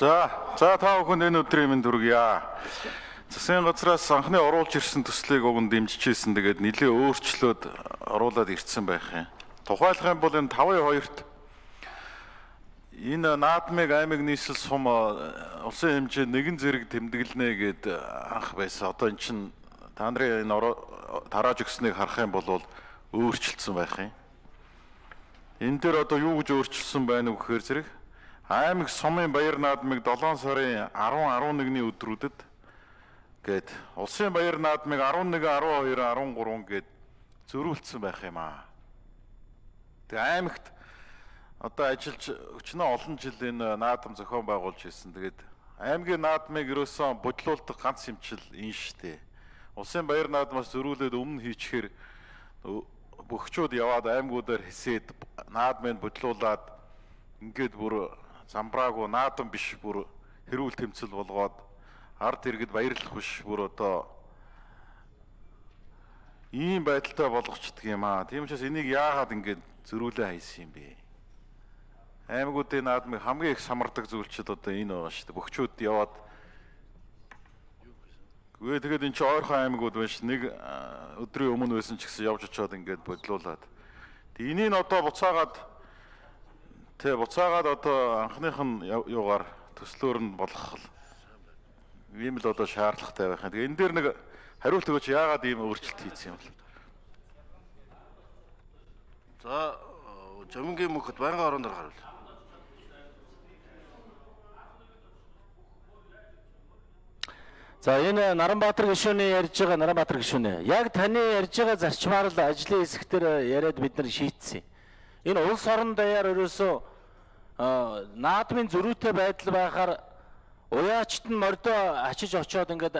За та бүхэнд энэ өдрийн мэнд хүргье. Засгийн газраас анхны оруулж ирсэн төслийг уг нь дэмжижсэн. Тэгээд нэлээ өөрчлөөд оруулаад ирсэн байх юм. Тухайлах юм бол энэ 5-2-т энэ наадмыг аймаг нийслэл сум улсын хэмжээ нэгэн зэрэг тэмдэглэнэ гэд анх байсан. Одоо эн чинь та нарын энэ тарааж өгснгийг харах юм бол өөрчлөлтсөн байх юм. Энэ дээр одоо юу гэж өөрчлөсөн байна вэ гэхээр зэрэг аймаг сумын баяр наадмыг 7 сарын 10-11-ний өдрүүдэд гээд улсын баяр наадмыг 11, 12, 13 гээд зөрүүлсэн байх юм аа. Тэгээ аймагт одоо ажиллаж өчнөө олон жил энэ наадам зохион байгуулж ирсэн. Тэгээд аймгийн наадмыг ерөөсөн бодлуулдаг ганц юмчил энэ штэ. Улсын баяр наадмаас зөрүүлээд өмнө хийчихээр бөхчүүд яваад аймагуудаар хэсээд наадмыг бодлуулад ингээд бүр замбраагүй наадам биш бүр хэрүүл тэмцэл болгоод ард иргэд баярлах биш бүр одоо ийм байдалтай болгочдөг юм аа. Тийм учраас энийг яагаад ингээд зөрүүлээ хайсан юм бэ? Аймагуудын наадмыг хамгийн их самардаг зүйлчд одоо энэ байгаа шүү дээ. Бөхчүүд яваад тэгээд энэ чи ойрхон аймагуд байна ш. Нэг өдрийн өмнө байсан ч гэсэн явж очиод ингээд бодлуулад. Энийг одоо буцаагаад одоо анхных нь юугаар төслөөр нь болгох ийм л одоо шаардлагатай байх юм. Тэгээ энэ дээр нэг хариулт өгөөч, яагаад ийм өөрчлөлт хийсэн юм бол? За Жамингийн мөхөд байнгын орон дээр харуул. За энэ Наранбаатар гишүүний ярьж байгаа Наранбаатар гишүүнээ. Яг таны ярьж байгаа зарчмаар л ажлын хэсгээр яриад бид нар шийдсэн. Энэ улс орон даяар ерөөсөө наадмын зөрүүтэй байдал байхаар уяачт нь мордоо ачиж очиод ингээд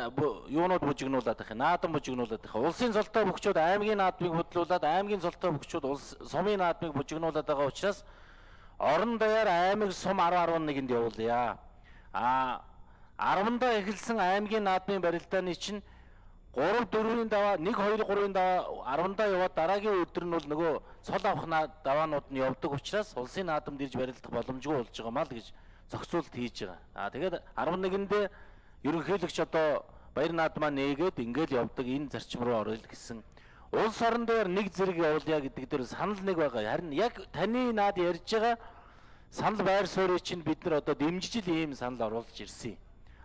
юунууд бужигнуулаад байх. Наадам бужигнуулаад байх. Улсын золтой бөхчүүд аймгийн наадмыг бодлуулад аймгийн золтой бөхчүүд улс сумын наадмыг бужигнуулаад байгаа учраас орон даяар аймаг сум 10-11-нд явуулъя. 10-даа эхэлсэн аймгийн наадмын барилдааны чинь 3-4-ийн даваа 1-2-3-ийн даваа 10-даа яваад дараагийн өдөр нь бол нөгөө цол авах даваанууд нь явдаг учраас улсын наадамд ирж барилдах боломжгүй болж байгаа маа л гэж зохицуулт хийж байгаа. Тэгээд 11-нд ерөнхийлөгч одоо баяр наадмаа нээгээд ингээл явдаг энэ зарчим руу орё гэсэн. Улс орон дээр нэг зэрэг явуулъя гэдэг дээр санал нэг байгаа. Харин яг таны наад ярьж байгаа санал байр суурийг чинь бид нар одоо дэмжиж ийм санал оруулж ирсэн.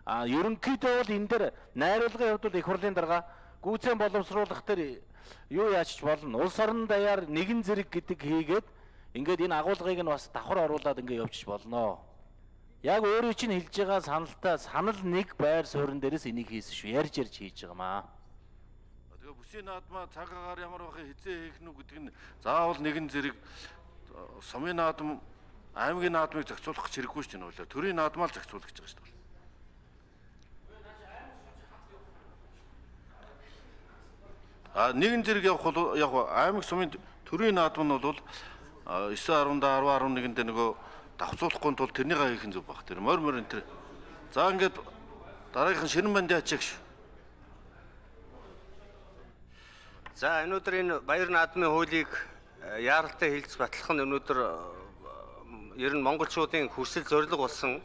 Ерөнхийдөө бол энэ дээр найруулгын хувьд их хурлын дарга гүйцэн боловсруулах дээр юу яач болно. Улс орон даяар нэгэн зэрэг гэдэг хийгээд ингээд энэ агуулгыг нь бас давхар оруулаад ингээд явчих болно. Яг өөрөө чинь хэлж байгаа санал нэг байр суурин дээрээс энийг хийсэн шүү. Ярьж хийж байгаа маа. Тэгээ бүсийн наадмаа цаг агаар ямар бахыг хизээ хийх нү гэдэг нь заавал нэгэн зэрэг сумын наадам аймгийн наадмыг зохицуулах хэрэггүй шүү дээ. Төрийн наадмаа л зохицуулах гэж байгаа шүү дээ. Нэгэн зэрэг явах бол яг аймаг сумын төрийн наадам нь бол 9-10, 10-11-нд нөгөө давцуулахгүй тул тэрнийгээ хийх нь зөв баг. Тэр морь энэ тэр. За ингээд дараагийнхан Ширэн банд яачих шүү. За өнөөдөр энэ баяр наадмын хуулийг яаралтай хэлэлц батлах нь өнөөдөр ер нь монголчуудын хүсэл зорилго болсон